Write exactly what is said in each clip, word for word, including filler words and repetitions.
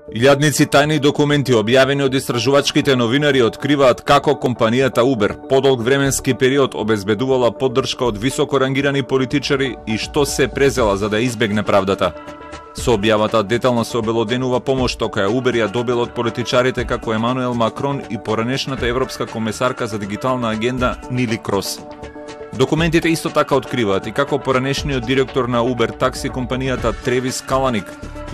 Илјадници тајни документи објавени од истражувачките новинари откриваат како компанијата Uber подолг временски период обезбедувала поддршка од високо рангирани политичари и што се презела за да избегне правдата. Со објавата детално се обелоденува помошта која Uber ја добила од политичарите како Емануел Макрон и поранешната европска комесарка за дигитална агенда Нили Крос. Документите исто така откриваат и како поранешниот директор на Uber такси компанијата Тревис Каланик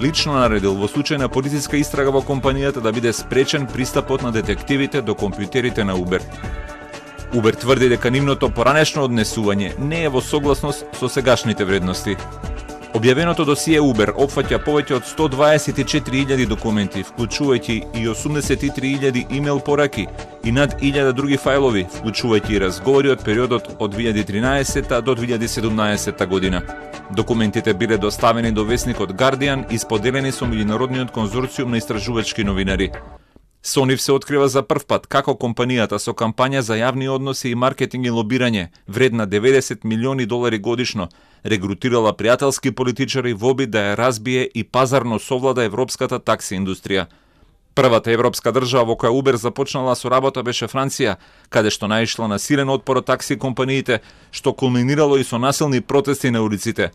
лично наредил во случај на полициска истрага во компанијата да биде спречен пристапот на детективите до компјутерите на Uber. Uber тврди дека нивното поранешно однесување не е во согласност со сегашните вредности. Објавеното досие Uber опфаќа повеќе од сто дваесет и четири илјади документи, вклучувајќи и осумдесет и три илјади имејл пораки и над илјада други фајлови, вклучувајќи и разговори од периодот од две илјади тринаесетта до две илјади седумнаесетта година. Документите биле доставени до весникот Guardian и споделени со меѓународниот конзорциум на истражувачки новинари. Со нив се открива за прв пат како компанијата со кампања за јавни односи и маркетинг и лобирање, вредна деветдесет милиони долари годишно, регрутирала пријателски политичари во обид да ја разбие и пазарно совлада европската такси индустрија. Првата европска држава во која Uber започнала со работа беше Франција, каде што наишла на силен отпор од такси компаниите, што кулминирало и со насилни протести на улиците.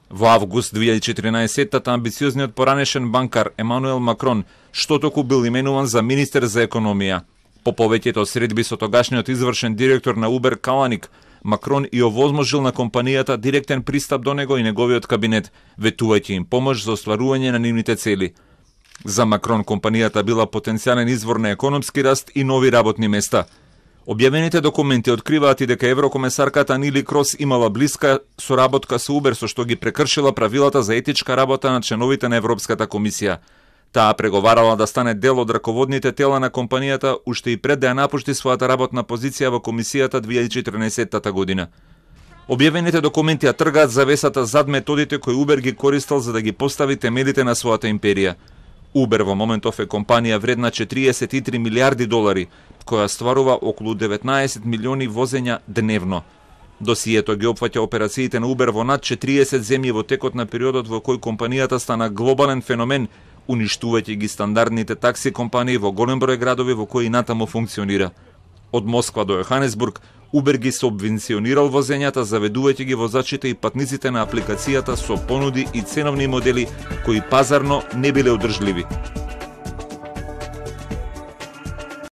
Во август две илјади и четиринаесетта амбициозниот поранешен банкар Емануел Макрон што току бил именуван за министер за економија. По повеќето средби со тогашниот извршен директор на Uber Каланик, Макрон и овозможил на компанијата директен пристап до него и неговиот кабинет, ветувајќи им помош за остварување на нивните цели. За Макрон компанијата била потенцијален извор на економски раст и нови работни места. Објавените документи откриваат и дека еврокомесарката Нили Крос имала блиска соработка со Uber, со што ги прекршила правилата за етичка работа на членовите на Европската комисија. Таа преговарала да стане дел од раководните тела на компанијата уште и пред да ја напушти својата работна позиција во комисијата две илјади и четирнаесетта година. Објавените документи ја тргаат завесата зад методите кои Uber ги користел за да ги постави темелите на својата империја. Uber во моментов е компанија вредна четириесет и три милиарди долари, која стварува околу деветнаесет милиони возења дневно. Досието ги опфаќа операциите на Uber во над четириесет земји во текот на периодот во кој компанијата стана глобален феномен, уништувајќи ги стандардните такси компании во голем број градови во кои натаму функционира. Од Москва до Јоханесбург, Uber ги субвенционирал возењата, заведувајќи ги возачите и патниците на апликацијата со понуди и ценовни модели кои пазарно не биле одржливи.